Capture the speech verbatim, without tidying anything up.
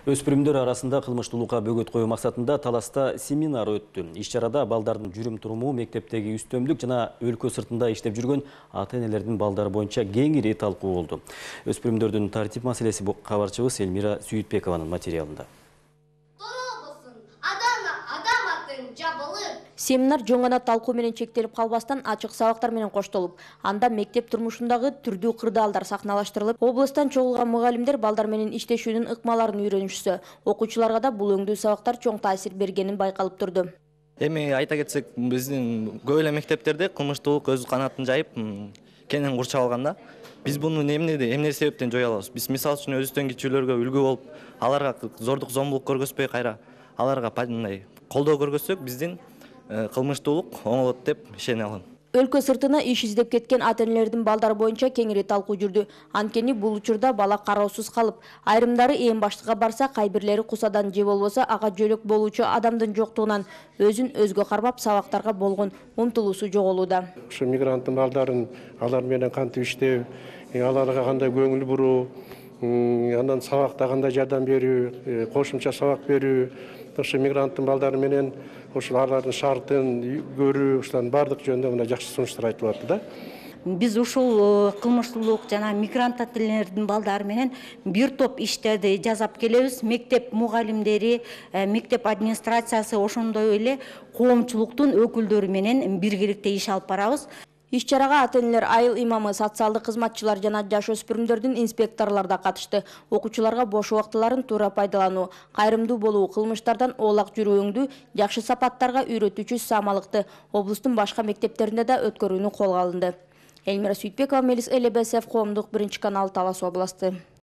Өспүрүмдөр арасында кылмыштуулукка бөгөт коюу максатында Таласта семинар өттү. Иш-чарада балдардын жүрүм-туруму, мектептеги үстөмдүк жана өлкө сыртында иштеп жүргөн ата-энелердин балдары боюнча кеңири талкуу болду. Өспүрүмдөрдүн тартип маселеси кабарчыбыз Элмира Сүйүтбекованын материалында. Семинар жоң гана талкуу менен чектелип калбастан ачык сабактар менен коштолуп, анда мектеп турмушундагы түрдүү кырдаалдар сахналаштырылып, облустан чогулган мугалимдер балдар менен иштешүүнүн ыкмаларын үйрөнүшсө, окуучуларга да бул өңдүү сабактар чоң таасир бергенин байкалып турду. Эми айта кетсек, биздин көп эле мектептерде кылмыштуулук өз канатын жайып, кенен курчап алган да. Биз буну эмнеде, эмне себептен жое алабыз? Биз мисалы үчүн өзүбүздөн кичүүлөргө үлгү болуп, аларга зордук, зомбулук көргөзбөй, кайра аларга мындай колдоо көргөзсөк, биздин кылмыштуулук оңолот деп ишене алам. Өлкө сыртына иш издеп кеткен ата-энелердин балдары боюнча кеңири талкуу жүрдү. Анткени бул учурда бала кароосуз калып, айрымдары эң баштыкка барса, кайбирлери кусадан же болбосо ага жөлөк болуучу адамдын жоктугунан өзүн өзгө кармап сабактарга болгон умтулуусу жоголууда. Ушу мигранттын балдарын алар менен кантип иштөө, аларга кандай көңүл буруу, андан сабакта кандай жардам берүү, кошумча сабак берүү, ушу мигранттын балдары менен ушул алардын шартын көрүү, ушулардын бардык жөнүндө мына жакшы сунуштар айтылып атты да. Биз ушул кылмыштуулук жана мигрант ата-энелердин балдары менен бир топ иштерди жасап келебиз. Мектеп мугалимдери, мектеп администрациясы, ошондой эле коомчулуктун өкүлдөрү менен биргеликте иш алып барабыз. Иш-чарага ата-энелер, айыл имамы, социалдык кызматчылар жана жаш өспүрүмдөрдүн инспекторлор да катышты. Окуучуларга бош убактыларын туура пайдалануу, кайрымдуу болуу, кылмыштардан оолак жүрүүңдү, жакшы сапаттарга үйрөтүүчү самалыкты облустун башка мектептеринде да өткөрүүнү колго алынды. Элмира Сүйүтбекова, Мелис Элебесов, Коомдук биринчи канал, Талас областы.